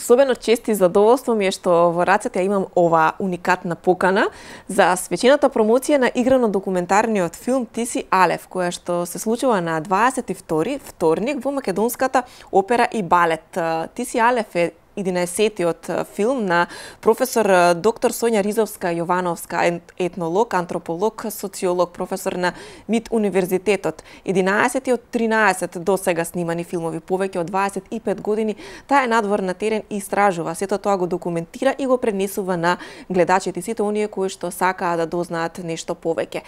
Особено чест и задоволство ми е што во рацете ја имам ова уникатна покана за свечената промоција на играно документарниот филм Ти си Алеф, која што се случува на 22 вторник во Македонската опера и балет. Ти си Алеф е 11-тиот филм на професор доктор Сонја Ризовска-Јовановска, етнолог, антрополог, социолог, професор на МИТ универзитетот. 11-тиот 13 до сега снимани филмови, повеќе од 25 години, таа е надвор на терен и истражува. Сето тоа го документира и го пренесува на гледачите, сите оние кои што сакаат да дознаат нешто повеќе.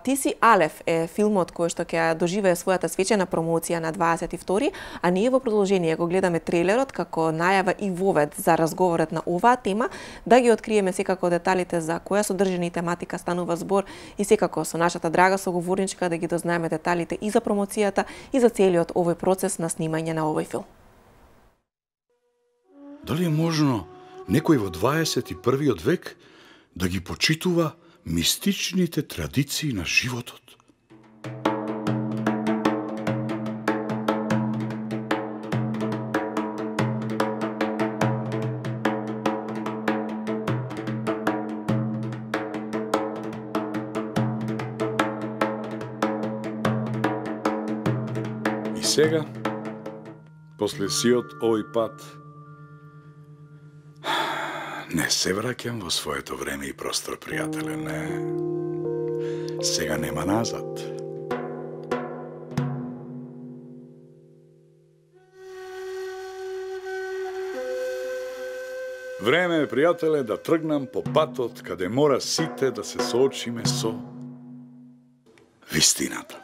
Ти си Алеф е филмот кој што ќе доживее својата свечена промоција на 22, а ние во продолжение го гледаме трейлерот како најава и вовед за разговорот на оваа тема, да ги откриеме секако деталите за која содржина и тематика станува збор и секако со нашата драга соговорничка да ги дознаеме деталите и за промоцијата и за целиот овој процес на снимање на овој филм. Дали е можно некој во 21 век да ги почитува мистичните традиции на животот? И сега, после сиот овој пат, не се враќам во своето време и простор, пријателе, не. Сега нема назад. Време е, пријателе, да тргнам по патот каде мора сите да се соочиме со вистината.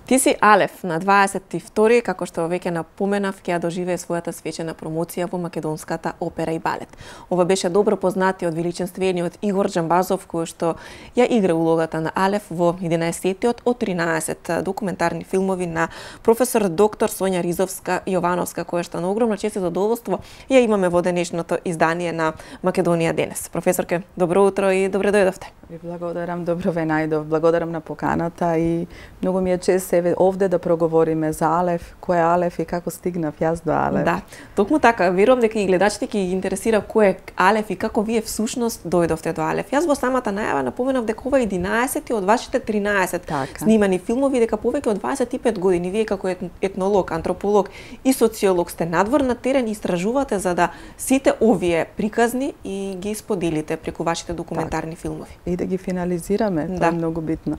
Ти си Алеф на 22, како што веќе напоменав, ќе ја доживее својата свечена промоција во Македонската опера и балет. Ова беше добро познатиот величествениот Игор Џамбазов, кој што ја игра улогата на Алеф во 11-тиот од 13 документарни филмови на професор доктор Сонја Ризовска-Јовановска, која што на огромна чест и задоволство ја имаме во денешното издание на Македонија денес. Професорке, добро утро и добре дојдовте. Ви благодарам, добро ве најдов. Благодарам на поканата и многу ми е чест себе овде да проговориме за Алеф, кој е Алеф и како стигнав јас до Алеф. Да, токму така, верувам дека и гледачите ќе ги интересира кој е Алеф и како вие всушност дојдовте до Алеф. Јас во самата најава напоменав дека ова е 11 од вашите 13 така снимани филмови, дека повеќе од 25 години вие како етнолог, антрополог и социолог сте надвор на терен и истражувате за да сите овие приказни и ги споделите преку вашите документарни филмови. И да ги финализираме, да. Тоа е многу битно.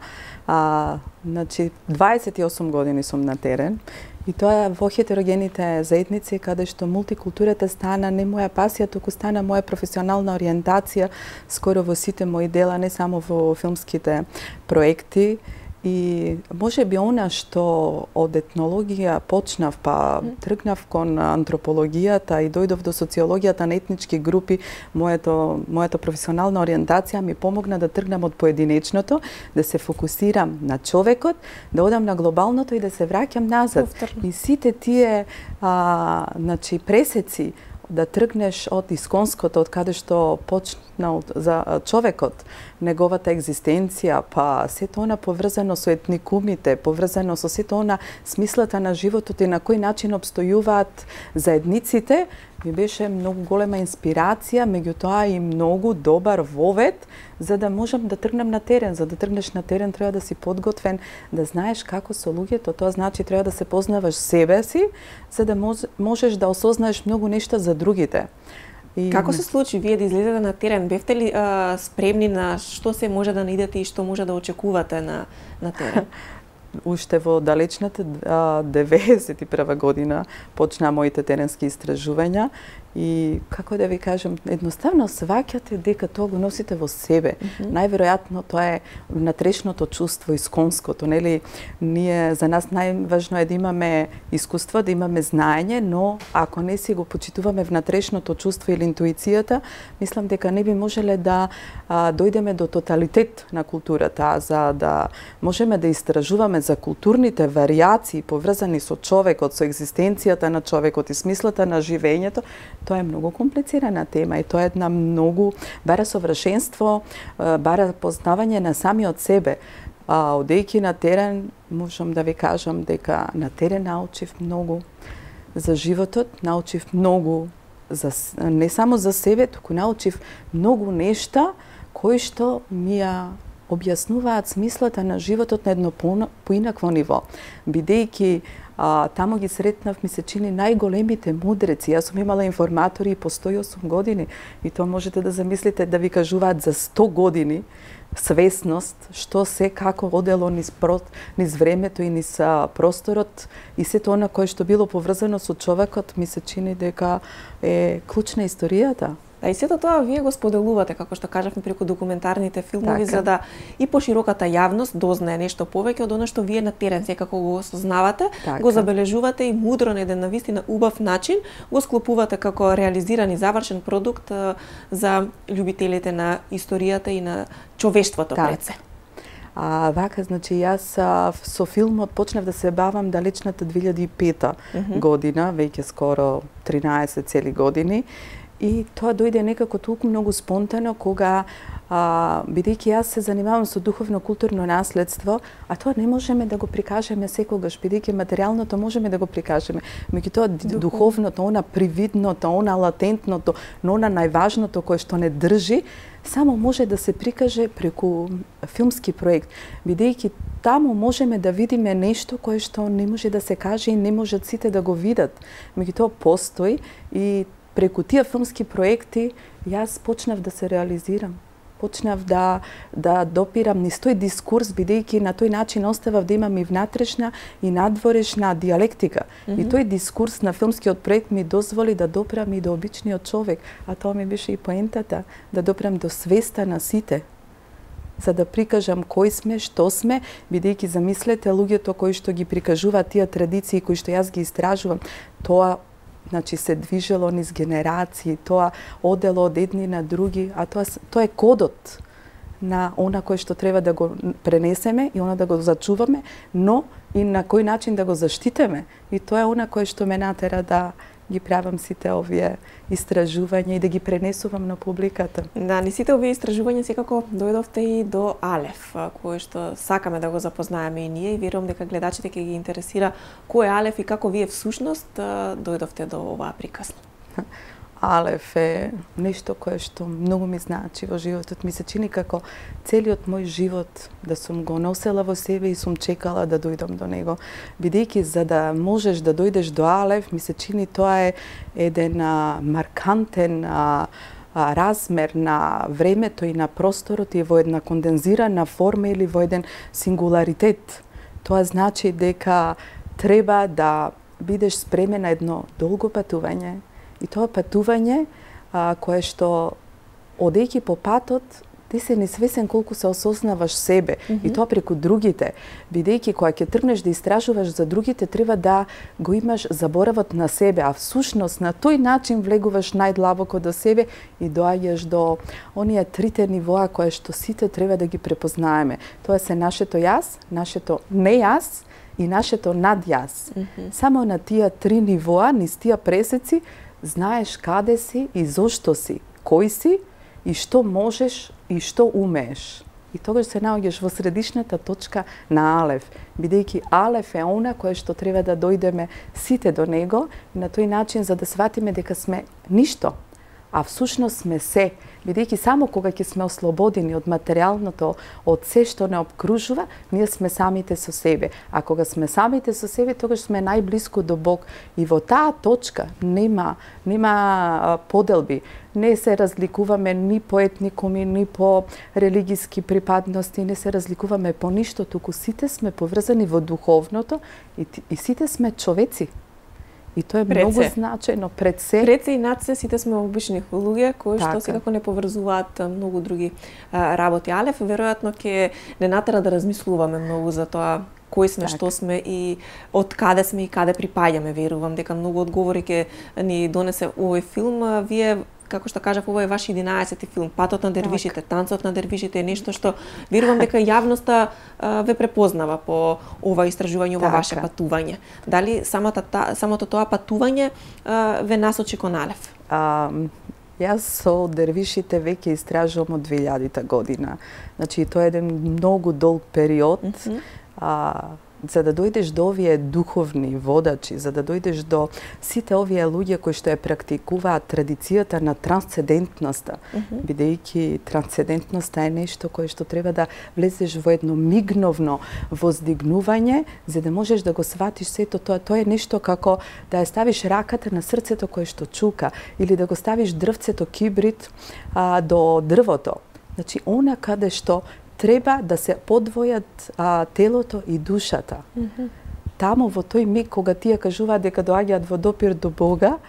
Значи, 28 години сум на терен и тоа во хетерогените заедници каде што мултикултурата стана не моја пасија, туку стана моја професионална ориентација скоро во сите мои дела, не само во филмските проекти. И може би она што од етнологија почнав, па тргнав кон антропологијата и дојдов до социологијата на етнички групи, мојата професионална ориентација ми помогна да тргнам од поединечното, да се фокусирам на човекот, да одам на глобалното и да се враќам назад. И сите тие значи пресеци да тргнеш од исконското, од каде што почнал за човекот, неговата екзистенција, па сето она поврзано со етникумите, поврзано со сето она смислата на животот и на кој начин обстојуваат заедниците, ми беше многу голема инспирација, меѓутоа и многу добар вовед за да можам да тргнам на терен. За да тргнеш на терен треба да си подготвен, да знаеш како со луѓето, тоа значи треба да се познаваш себе си, за да можеш да осознаеш многу нешта за другите. И... Како се случи вие да излезете на терен? Бевте ли спремни на што се може да наидете и што може да очекувате на терен? Уште во далечната 91 година почнаа моите теренски истражувања и како да ви кажам, едноставно сваќате дека тоа го носите во себе. Најверојатно тоа е внатрешното чувство, исконското, нели? Ние за нас најважно е да имаме искуство, да имаме знаење, но ако не си го почитуваме внатрешното чувство или интуицијата, мислам дека не би можеле да дојдеме до тоталитет на културата, за да можеме да истражуваме за културните варијации поврзани со човекот, со екзистенцијата на човекот и смислата на живењето. Тоа е многу комплицирана тема и тоа е една многу бара совршенство, бара познавање на самиот себе. Одејќи на терен, можам да ви кажам дека на терен научив многу за животот, научив многу не само за себе, туку научив многу нешта кои што ми ја објаснуваат смислата на животот на едно поинакво ниво. Бидејќи таму ги сретнав, ми се чини, најголемите мудреци. Јас сум имала информатори по 108 години и тоа можете да замислите да ви кажуваат за 100 години свесност, што се како одело низ времето и низ просторот и сето она кое што било поврзано со човекот, ми се чини дека е клучна историјата. И сето тоа вие го споделувате, како што кажавме, преку документарните филмови, за да и пошироката јавност дознае нешто повеќе од она што вие на терен секако го осознавате, го забележувате и мудро на еден навистина убав начин го склопувате како реализиран и завршен продукт за љубителите на историјата и на човештвото пред се. Вака, значи, јас со филмот почнав да се бавам далечната 2005 година, веќе скоро 13 цели години. И тоа дојде некако толку многу спонтано, кога, бидејќи јас се занимавам со духовно-културно наследство, а тоа не можеме да го прикажеме секогаш, бидејќи материјалното можеме да го прикажеме. Меѓутоа, духовното, она привидното, она латентното, но она најважното кое што не држи, само може да се прикаже преку филмски проект, бидејќи таму можеме да видиме нешто кое што не може да се каже и не можат сите да го видат. Меѓутоа, постои и преку тие филмски проекти јас почнав да се реализирам. Почнав да допирам низ тој дискурс, бидејќи на тој начин оставав да имам и внатрешна и надворешна диалектика. И тој дискурс на филмскиот проект ми дозволи да допрам и до обичниот човек, а тоа ми беше и поентата, да допрам до свеста на сите, за да прикажам кои сме, што сме, бидејќи замислете луѓето кои што ги прикажуваат тие традиции кои што јас ги истражувам, тоа значи се движело низ генерации, тоа одело од едни на други, а тоа е кодот на она кое што треба да го пренесеме и она да го зачуваме, но и на кој начин да го заштитиме. И тоа е она кое што ме натера да ги правам сите овие истражувања и да ги пренесувам на публиката. Да, ни сите овие истражувања секако дојдовте и до Алеф, кој што сакаме да го запознаеме и ние, и верувам дека гледачите ќе ги интересира кој е Алеф и како вие всушност дојдовте до оваа приказна. Алеф е нешто кое што многу ми значи во животот. Ми се чини како целиот мој живот да сум го носела во себе и сум чекала да дојдам до него. Бидејќи за да можеш да дојдеш до Алеф, ми се чини тоа е еден маркантен размер на времето и на просторот и во една кондензирана форма или во еден сингуларитет. Тоа значи дека треба да бидеш спремен на едно долго патување. И тоа патување кое што одејќи по патот, ти се несвесен колку се осознаваш себе и тоа преку другите, бидејќи кога ќе тргнеш да истражуваш за другите, треба да го имаш заборавот на себе, а всушност на тој начин влегуваш најдлабоко до себе и доаѓаш до оние трите нивоа кои што сите треба да ги препознаеме. Тоа се нашето јас, нашето не јас и нашето над јас. Само на тие три нивоа, низ тие пресеци, знаеш каде си и зошто си, кој си и што можеш и што умееш. И тогаш се наоѓаш во средишната точка на Алеф, бидејќи Алеф е она кое што треба да дојдеме сите до него и на тој начин за да сватиме дека сме ништо, а всушност сме се, бидејќи само кога ќе сме ослободени од материјалното, од се што не обкружува, ние сме самите со себе. А кога сме самите со себе, тогаш сме најблиску до Бог. И во таа точка нема поделби. Не се разликуваме ни по етникуми, ни по религиски припадности, не се разликуваме по ништо, туку сите сме поврзани во духовното и сите сме човеци. И тоа е многу значајно пред се. Пред се и над се сите сме обични луѓе кои што секако не поврзуваат многу други работи. Алеф веројатно ќе не натера да размислуваме многу за тоа кои сме, што сме и од каде сме и каде припаѓаме. Верувам дека многу одговори ќе ни донесе овој филм. Вие, како што кажав, ова е ваш 11-ти филм. Патот на дервишите, танцот на дервишите е нешто што верувам дека јавноста ве препознава по ова истражување, ова ваше патување. Дали самото тоа патување ве насочи кон Алеф? Јас со дервишите веќе истражувам од 2000-та година. Значи, тоа е еден многу долг период. За да дојдеш до овие духовни водачи, за да дојдеш до сите овие луѓе кои што ја практикуваат традицијата на трансцендентноста, бидејќи трансцендентноста е нешто кое што треба да влезеш во едно мигновно воздигнување, за да можеш да го сватиш сето тоа. Тоа е нешто како да ја ставиш раката на срцето кое што чука, или да го ставиш дрвцето кибрид до дрвото. Значи, она каде што треба да се подвојат телото и душата. Таму во тој миг кога тие кажуваат дека доаѓаат во допир до Бога,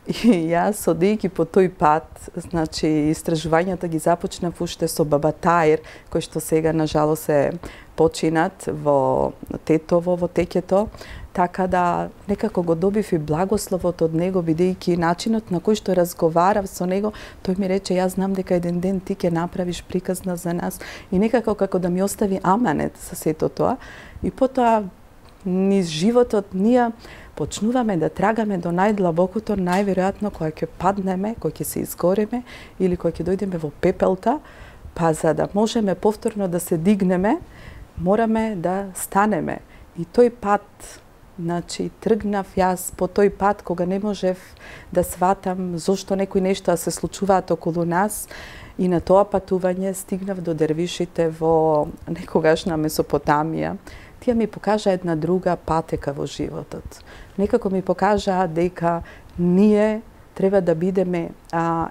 и јас одејќи по тој пат, значи истражувањата ги започнав уште со Баба Таир, кој што сега на жалост е починат во Тетово, во Текето, така да некако го добив и благословот од него, бидејќи начинот на кој што разговарав со него, тој ми рече, јас знам дека еден ден ти ќе направиш приказна за нас, и некако како да ми остави аманет за сето тоа. И потоа низ животот ние почнуваме да трагаме до најдлабокото, најверојатно кога ќе паднеме, кога ќе се изгореме или кога ќе дојдеме во пепелта, па за да можеме повторно да се дигнеме, мораме да станеме. И тој пат, значи, тргнав јас по тој пат кога не можев да сватам зошто некои нешта се случуваат околу нас, и на тоа патување стигнав до дервишите во некогашна Месопотамија. Тие ми покажа една друга патека во животот. Некако ми покажа дека ние треба да бидеме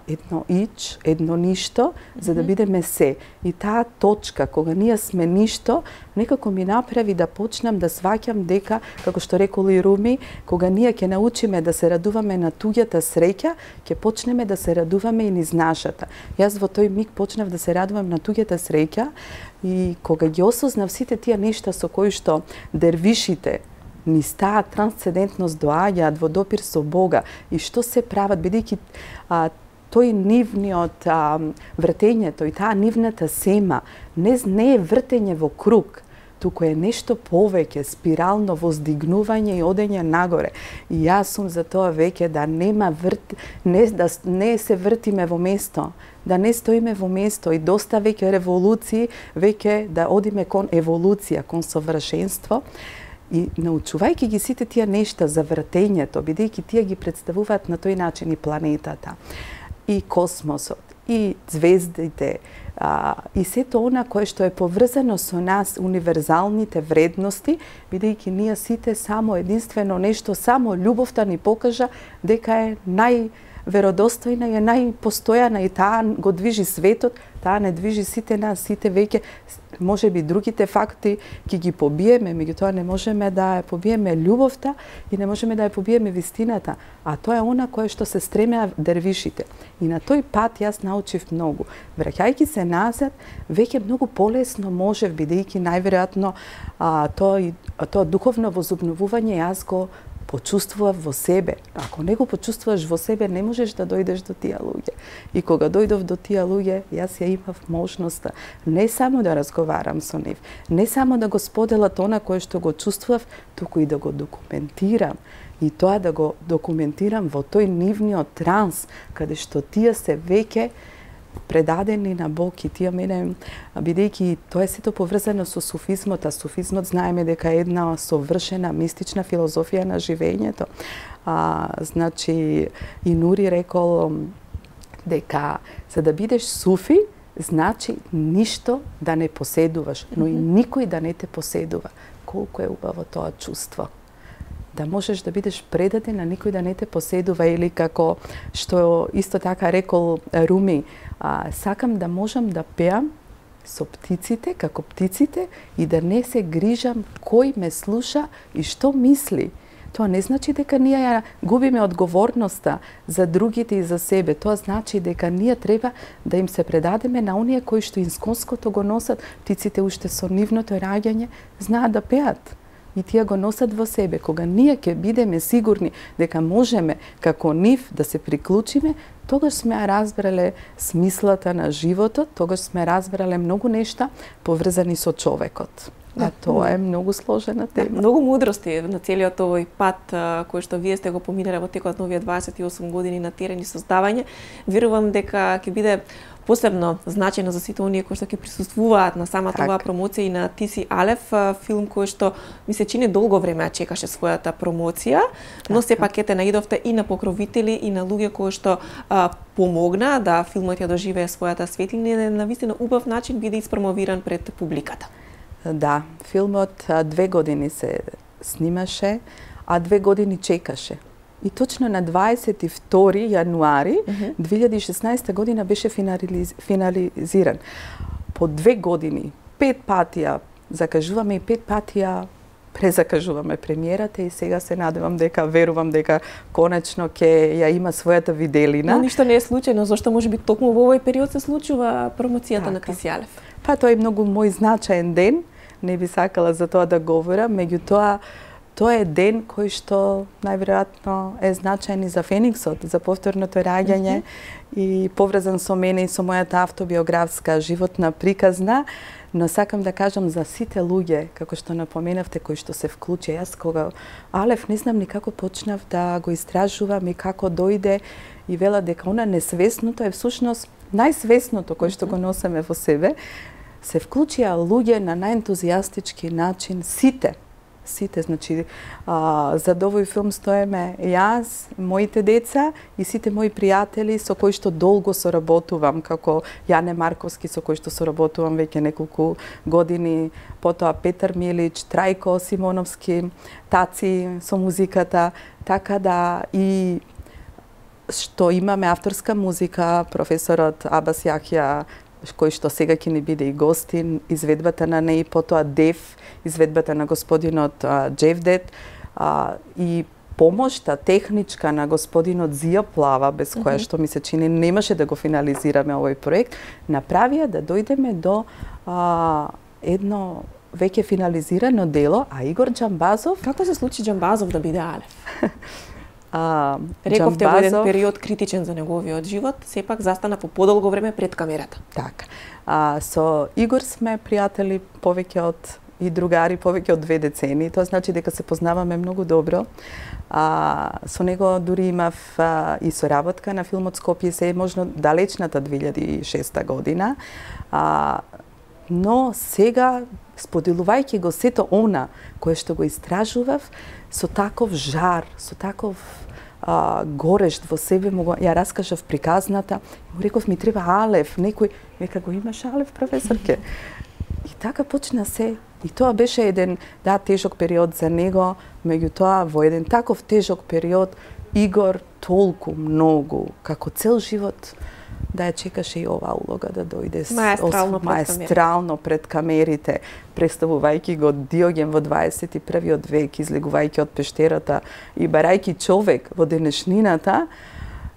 едно ич, едно ништо, за да бидеме се. И таа точка, кога ние сме ништо, некако ми направи да почнам да сваќам дека, како што рекол и Руми, кога ние ќе научиме да се радуваме на туѓата среќа, ќе почнеме да се радуваме и низ нашата. Јас во тој миг почнав да се радувам на туѓата среќа, и кога ги осознав сите тие нешта со кои што дервишите низ таа трансцендентност доаѓаат во допир со Бога и што се прават, бидејќи тој нивниот вртењето и таа нивната сема не е вртење во круг, туку е нешто повеќе, спирално воздигнување и одење нагоре. И јас сум за тоа веќе да нема да не се вртиме во место, да не стоиме во место, и доста веќе револуции, веќе да одиме кон еволуција, кон совршенство. И научувајќи ги сите тие нешта за вртењето, бидејќи тие ги представуваат на тој начин и планетата, и космосот, и звездите, и сето она кое што е поврзано со нас, универзалните вредности, бидејќи ние сите само единствено нешто, само љубовта ни покажа дека е најверодостојна и е најпостојана, и таа го движи светот, таа не движи сите нас, сите веќе, може би другите факти ќе ги побиеме, меѓутоа не можеме да ја побиеме љубовта и не можеме да ја побиеме вистината, а тоа е она кое што се стремеа дервишите. И на тој пат јас научив многу. Враќајќи се назад, веќе многу полесно можев, бидејќи најверојатно тоа духовно возобновување јас го почувствував во себе. Ако не го почувствуваш во себе, не можеш да дојдеш до тие луѓе. И кога дојдов до тие луѓе, јас ја имав можноста не само да разговарам со нив, не само да го споделат она кое што го чувствував, туку и да го документирам. И тоа да го документирам во тој нивниот транс, каде што тие се веќе предадени на Бог, и тие мене, бидејќи тоа е сето поврзано со суфизмот, а суфизмот знаеме дека е една совршена мистична филозофија на живењето. Значи, и Нури рекол дека за да бидеш суфи, значи ништо да не поседуваш, но и никој да не те поседува. Колку е убаво тоа чувство. Да можеш да бидеш предаден, а никој да не те поседува, или како што исто така рекол Руми, сакам да можам да пеам со птиците, како птиците, и да не се грижам кој ме слуша и што мисли. Тоа не значи дека ние ја губиме одговорноста за другите и за себе. Тоа значи дека ние треба да им се предадеме на оние кои што инсконското го носат. Птиците уште со нивното раѓање знаат да пеат. И тие го носат во себе. Кога ние ќе бидеме сигурни дека можеме како нив да се приклучиме, тогаш сме разбрале смислата на животот, тогаш сме разбрале многу нешта поврзани со човекот. А тоа е многу сложена тема. Многу мудрости на целиот овој пат кој што вие сте го поминале во текот на овие 28 години на терен и создавање. Верувам дека ќе биде посебно значајно за сите оние кои што ќе присуствуваат на самата оваа промоција и на Ти си Алеф, филм кој што ми се чини долго време чекаше својата промоција, но сепак ете наидовте и на покровители и на луѓе кои што помогна да филмот ја доживее својата светлина и на вистина убав начин биде испромовиран пред публиката. Да, филмот 2 години се снимаше, а 2 години чекаше. И точно на 22 јануари 2016 година беше финализиран. По 2 години, 5 патија закажуваме и 5 патија презакажуваме премиерата и сега се надевам дека, верувам дека конечно ќе ја има својата виделина. Но ништо не е случајно, зашто можеби токму во овој период се случува промоцијата на Ти си Алеф. Па тоа е многу мој значаен ден, не би сакала за тоа да говорам, меѓутоа тоа е ден кој што најверојатно е значаен и за Фениксот, за повторното раѓање и поврзан со мене и со мојата автобиографска животна приказна, но сакам да кажам за сите луѓе, како што напоменавте, кои што се вклучи. Јас кога Алеф не знам ни како почнав да го истражувам и како дојде и вела дека она несвесното е всушност најсвесното кој што го носиме во себе. Се вклучија луѓе на најентузијастички начин, сите, значи, за овој филм стоеме јас, моите деца и сите мои пријатели со кои што долго соработувам, како Јане Марковски со кој што соработувам веќе неколку години, потоа Петар Милич, Трајко Симоновски, Таци со музиката, така да и што имаме авторска музика, професорот Абас Јахја, кој што сега ќе ни биде и гостин, изведбата на неј, потоа Дев, изведбата на господинот Джевдет и помошта техничка на господинот Зија Плава, без која што ми се чини немаше да го финализираме овој проект, направија да дојдеме до едно веќе финализирано дело, а Игор Џамбазов... Како се случи Џамбазов да биде Алеф? Рековте во еден период критичен за неговиот живот, сепак застана по подолго време пред камерата. Така. Со Игор сме пријатели повеќе од и другари повеќе од 2 децени. Тоа значи дека се познаваме многу добро. Со него дури имав и соработка на филмот Скопје се е можно далечната 2006 година. Но сега, споделувајќи го сето она кое што го истражував, со таков жар, со таков горешт во себе, ја раскажав приказната, му реков ми треба Алеф, некој, века го имаш Алеф, професорке. И така почна се. И тоа беше еден, да, тежок период за него, меѓутоа во еден таков тежок период Игор толку многу, како цел живот, да ја чекаше и оваа улога да дојде маестрално пред камерите, представувајќи го Диоген во 21. век, излегувајќи од пештерата и барајќи човек во денешнината,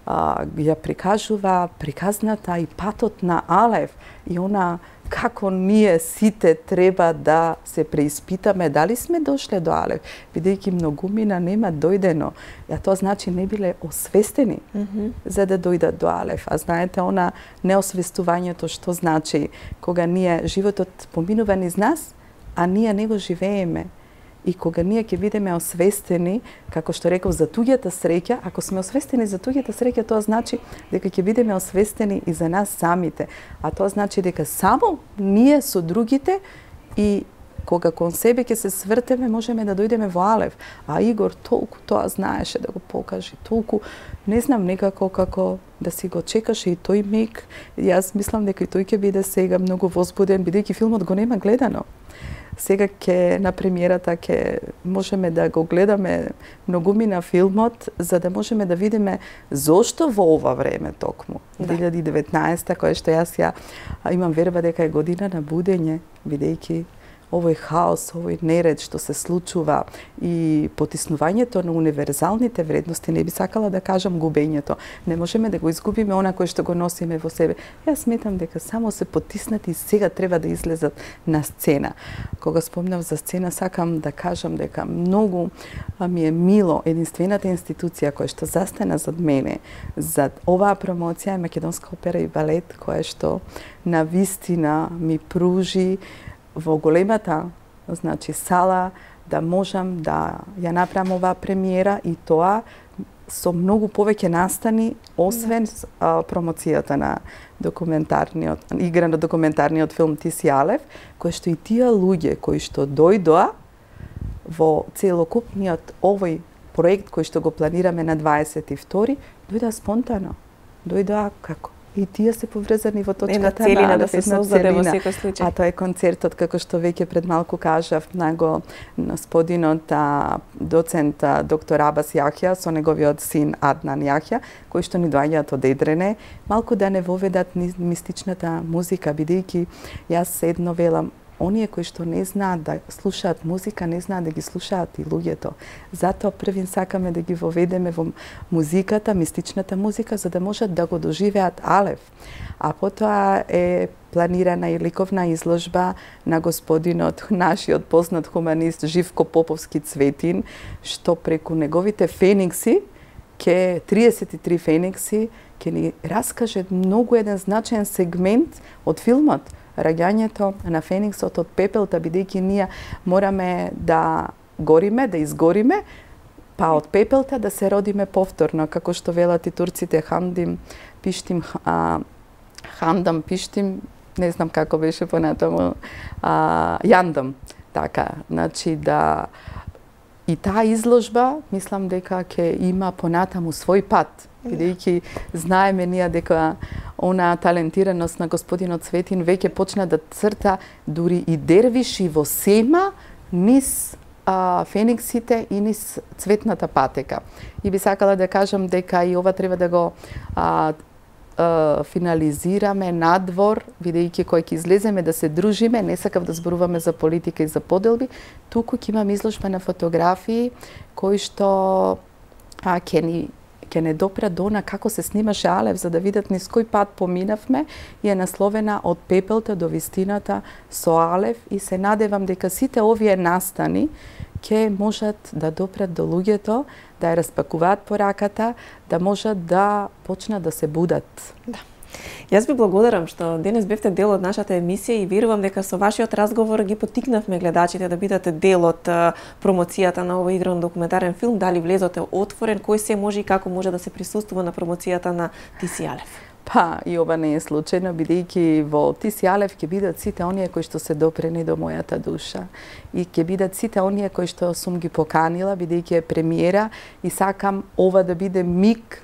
ја прикажува приказната и патот на Алеф и она како ние сите треба да се преиспитаме дали сме дошле до Алеф, бидејќи многумина нема дојдено. А тоа значи не биле освестени за да дојдат до Алеф. А знаете, она неосвестувањето што значи кога ние животот поминува низ нас, а ние не го живееме. И кога ние ќе бидеме освестени, како што реков, за туѓата среќа, ако сме освестени за туѓата среќа, тоа значи дека ќе бидеме освестени и за нас самите. А тоа значи дека само ние со другите и кога кон себе ќе се свртеме, можеме да дојдеме во Алеф. А Игор толку тоа знаеше да го покаже, толку, не знам, некако како да си го чекаше и тој миг. Јас мислам дека и тој ќе биде сега многу возбуден, бидејќи филмот го нема гледано. Сега ќе на премиерата ќе можеме да го гледаме многумина филмот, за да можеме да видиме зошто во ова време токму. 2019, која што јас имам верба дека е година на будење, бидејќи овој хаос, овој неред што се случува и потиснувањето на универзалните вредности, не би сакала да кажам губењето. Не можеме да го изгубиме она кое што го носиме во себе. Јас сметам дека само се потиснати и сега треба да излезат на сцена. Кога спомнав за сцена, сакам да кажам дека многу ми е мило единствената институција која што застана зад мене за оваа промоција е Македонска опера и балет, која што на вистина ми пружи во големата значи сала, да можам да ја направам оваа премиера и тоа со многу повеќе настани, освен промоцијата на игра на документарниот филм Ти си Алев, кој што и тие луѓе кои што дојдоа во целокупниот овој проект кој што го планираме на 22, дојдоа спонтано. Дојдоа како? И тие се поврзани во точката целина, да се создаде во секој случај. А тоа е концертот, како што веќе пред малку кажав, на господинот доцент доктор Абас Јахја со неговиот син Аднан Јахја, кои што ни доаѓаат од Едрене, малку да не воведат мистичната музика, бидејќи јас едно велам, оние кои што не знаат да слушаат музика, не знаат да ги слушаат и луѓето. Затоа првин сакаме да ги воведеме во музиката, мистичната музика, за да можат да го доживеат Алев. А потоа е планирана и ликовна изложба на господинот, нашиот познат хуманист Живко Поповски Цветин, што преку неговите феникси, 33 феникси, ќе ни раскаже многу еден значаен сегмент од филмот, раѓањето на фениксот од пепелта, бидејќи ние мораме да гориме, да изгориме, па од пепелта да се родиме повторно, како што велат и турците, хандам пиштим, не знам како беше понатаму, јандам. Така, значи да и таа изложба, мислам дека ќе има понатаму свој пат, бидејќи знаеме ние дека она талентираност на господинот Цветин веќе почна да црта дури и дервиши во сема низ фениксите и низ цветната патека. И би сакала да кажам дека и ова треба да го финализираме надвор, бидејќи кој ќе излеземе да се дружиме, не сакав да зборуваме за политика и за поделби, туку ќе имам изложба на фотографии кои што ќе не допрат до она како се снимаше Алев, за да видат низ кој пат поминавме, и е насловена Од пепелта до вистината со Алев, и се надевам дека сите овие настани ќе можат да допрат до луѓето, да ја распакуваат пораката, да можат да почнат да се будат. Да. Јас ви благодарам што денес бевте дел од нашата емисија и верувам дека со вашиот разговор ги поттикнавме гледачите да бидете дел од промоцијата на овој игран документарен филм. Дали влезот е отворен, кој се може и како може да се присуствува на промоцијата на Ти си Алев? Па, и ова не е случајно, бидејќи во Ти си Алев ќе бидат сите оние кои што се допрени до мојата душа. И ќе бидат сите оние кои што сум ги поканила, бидејќи е премиера, и сакам ова да биде миг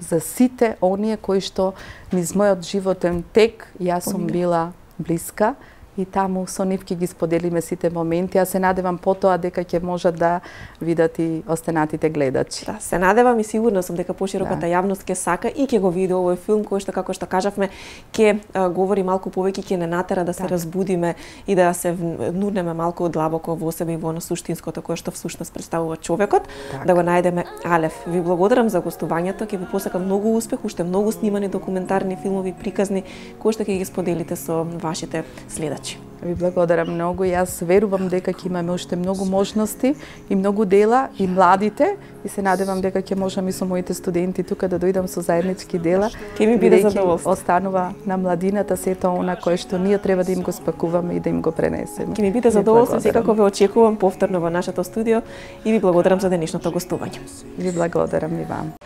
за сите оние кои што низ мојот животен тек јас сум била блиска, и таму со нив ќе ги споделиме сите моменти. Јас се надевам потоа дека ќе можат да видат и останатите гледачи. Да, се надевам и сигурна сум дека пошироката јавност ќе сака и ќе го види овој филм кој што, како што кажавме, ќе говори малку повеќе, ќе не натера да се разбудиме и да се внурнеме малку длабоко во себе и во суштинското кое што всушност представува човекот, да го најдеме Алев. Ви благодарам за гостувањето, ќе ви посакам многу успех, уште многу снимани документарни филмови, приказни, кои што ќе ги споделите со вашите следачи. Ви благодарам многу. Јас верувам дека ќе имаме уште многу можности и многу дела, и младите, и се надевам дека ќе можам и со моите студенти тука да дојдам со заеднички дела. Ќе ми биде задоволство. Останува на младината сето она кое што ние треба да им го спакуваме и да им го пренесеме. Ќе ми биде задоволство, секако ве очекувам повторно во нашето студио и ви благодарам за денешното гостување. Ви благодарам и вам.